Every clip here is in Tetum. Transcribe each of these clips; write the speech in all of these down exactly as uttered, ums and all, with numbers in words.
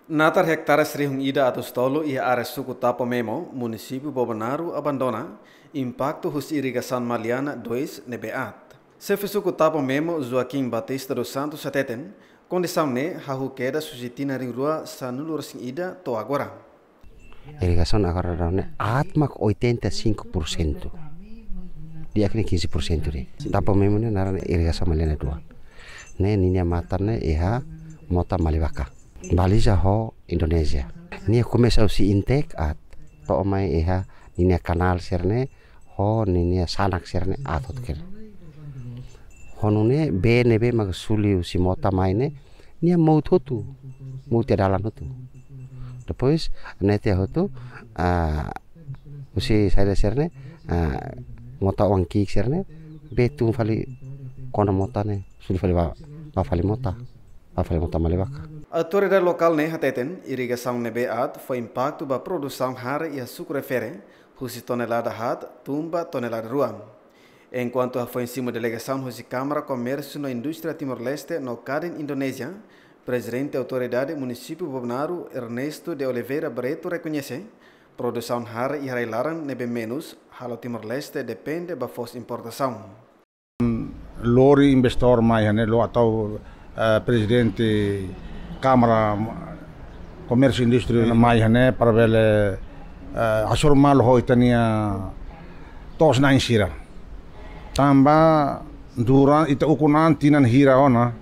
Natar hektares rihun ida atus tolu iha área suku Tapo Memo, munisípiu Bobonaro abandona, impaktu husi irrigasaun Maliana dois ne'ebé aat. Xefe suku Tapo Memo, Joaquim Batista dos Santos, hateten, kondisaun ne'e hahú kedas husi tinan rihun rua sanulu-resin-ida to'o agora. Irrigasaun agora daudaun ne'e aat mak oitenta e cinco por cento. Di'ak ne'e quinze por cento de'it. Tapo Memo ne'e naran irrigasaun Maliana dua. Ne'e ninia matan ne'e iha mota Malivaka. Baliza ho Indonézia. Nia komesa husi intake aat. To'o mai iha ninia kanál sira-ne'e ho ninia sanak sira-ne'e aat hotu kir. Ho nune'e bee ne'ebé mak suli husi mota mai ne'e, nia mout hotu, mout iha dalan hotu. Depois, ne'e tiha hotu, ah, husi saida sira-ne'e, ah, mota oan ki'ik sira-ne'e, bee tun fali kona mota ne'e, suli fali ba, ba fali mota, ba fali mota Malivaka. Autoridade lokál ne'e hateten, irrigasaun ne'ebé aat fó impaktu ba produsaun hare iha suku refere, husi tonelada haat tun ba tonelada rua. Enkuantu hafoin simu delegasaun husi Kámara Komérsiu no Indústria Timor-Leste no Kadin Indonézia, Prezidente Autoridade Munisípiu Bobonaro, Ernesto de Oliveira Barreto, rekoñese, produsaun hare iha rai-laran ne'ebé menus halo Timor-Leste depende ba foos importasaun. Lori investidór mai iha ne'e, lori atu, eh, prezidente Kámara Komérsiu Indústria mai iha ne'e para bele, eh, hasoru malu ho ita-nia to'os-na'in sira. Tanba durante ita ukun an tinan hira ona,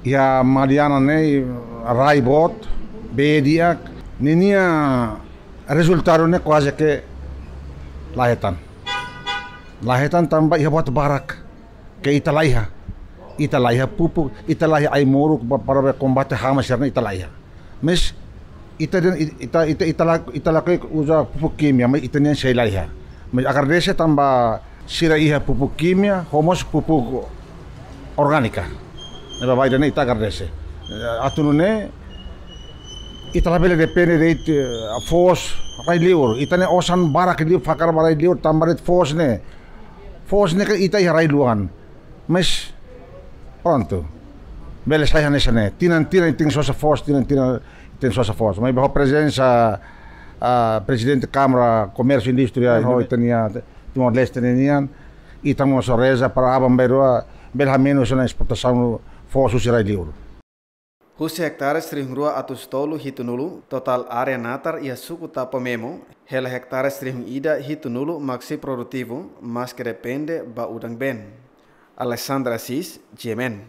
iha Maliana ne'e rai boot, bee di'ak, ninia rezultadu ne'e kuaze ke la hetan. La hetan tanba iha buat barak ke ita laiha. Ita laiha pupuk, ita laiha ai-moruk ba, para bele kombate hama sira-ne'e ita laiha. Mas ita dehan, ita, ita, ita la, ita lakohi uza pupuk kimia, mas ita-nian sei laiha. Mas agradese tanba sira iha pupuk kimia, ho mós pupuk orgánika. Ne'ebé ida-ne'e ita agradese. Eh, atu nune'e, ita labele depende de'it, eh, foos rai-liur. Ita-nia osan barak liu fakar ba rai-liur, tanba de'it foos ne'e. Foos ne'e ke ita iha rai-luan. Mas, prontu. Bele sai hanesan ne'e. Tinan-tinan ita tenke sosa foos, tinan-tinan ita tenke sosa foos. Maibé ho prezensa, ah, Prezidente Kámara Komérsiu Indústria, ho ita-nia Timor-Leste ninian, ita mós reza para aban-bainrua bele hamenus ona esportasaun foos husi rai-liur. Husi hektares rihun rua atus tolu hitunulu, totál área natar iha suku Tapo Memo, hela hektares rihun ida hitunulu mak sei produtivu, maske depende ba udan-been. Alessandra Assis, G M N.